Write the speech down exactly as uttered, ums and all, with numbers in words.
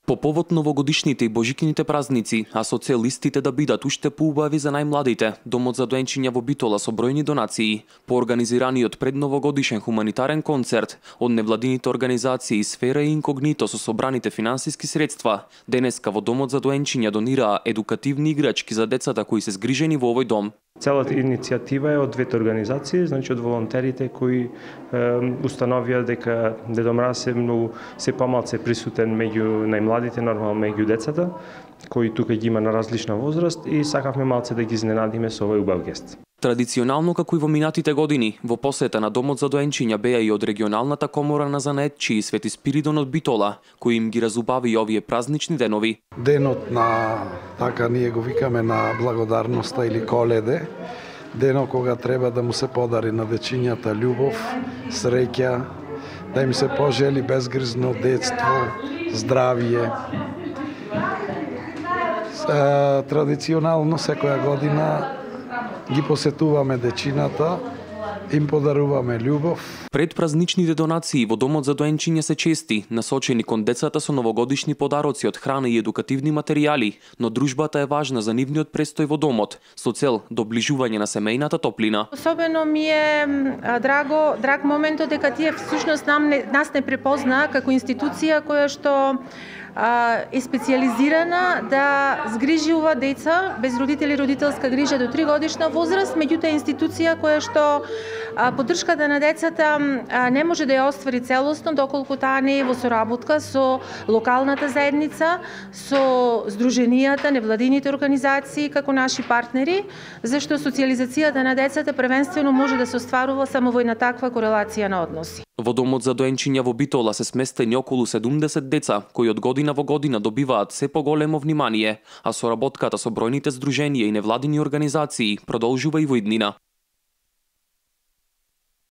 По повод новогодишните и божикините празници, а со цел истите да бидат уште поубави за најмладите, Домот за доенчиња во Битола со бројни донации, по организираниот предновогодишен хуманитарен концерт од невладините организации Сфера и Инкогнито со собраните финансиски средства, денеска во Домот за доенчиња донираа едукативни играчки за децата кои се згрижени во овој дом. Целата иницијатива е од двете организации, значи од волонтерите кои е, установија дека Дедо Мраз е многу се помалку присутен меѓу најмладите, нормално меѓу децата, кои тука ги има на различна возраст и сакавме малце да ги изненадиме со овој убав гест. Традиционално, како и во минатите години, во посета на Домот за доенчиња беа и од регионалната комора на занаетчии Свети Спиридон од Битола, кои им ги разубави овие празнични денови. Денот на, така ние го викаме, на благодарноста или Коледе, денот кога треба да му се подари на дечињата љубов, среќа, да им се пожели безгрижно детство, здравје. Традиционално секоја година ги посетуваме дечината, им подаруваме љубов. Предпразничните донации во Домот за доенчиња се чести, насочени кон децата со новогодишни подароци од храна и едукативни материјали, но дружбата е важна за нивниот престој во домот, со цел доближување на семејната топлина. Особено ми е драго, драг моментот дека тие всушност нам не, нас не препозна како институција која што е специјализирана да згрижува деца без родители и родителска грижа до три годишна возраст, меѓутоа институција која што поддршката на децата не може да ја оствари целосно доколку таа не е во соработка со локалната заедница, со здруженијата, невладините организации како наши партнери, зашто социјализацијата на децата првенствено може да се остварува само во една таква корелација на односи. Во Домот за доенчиња во Битола се сместени околу седумдесет деца, кои од година во година добиваат се поголемо внимание, а соработката со бројните здруженија и невладини организации продолжува и во иднина.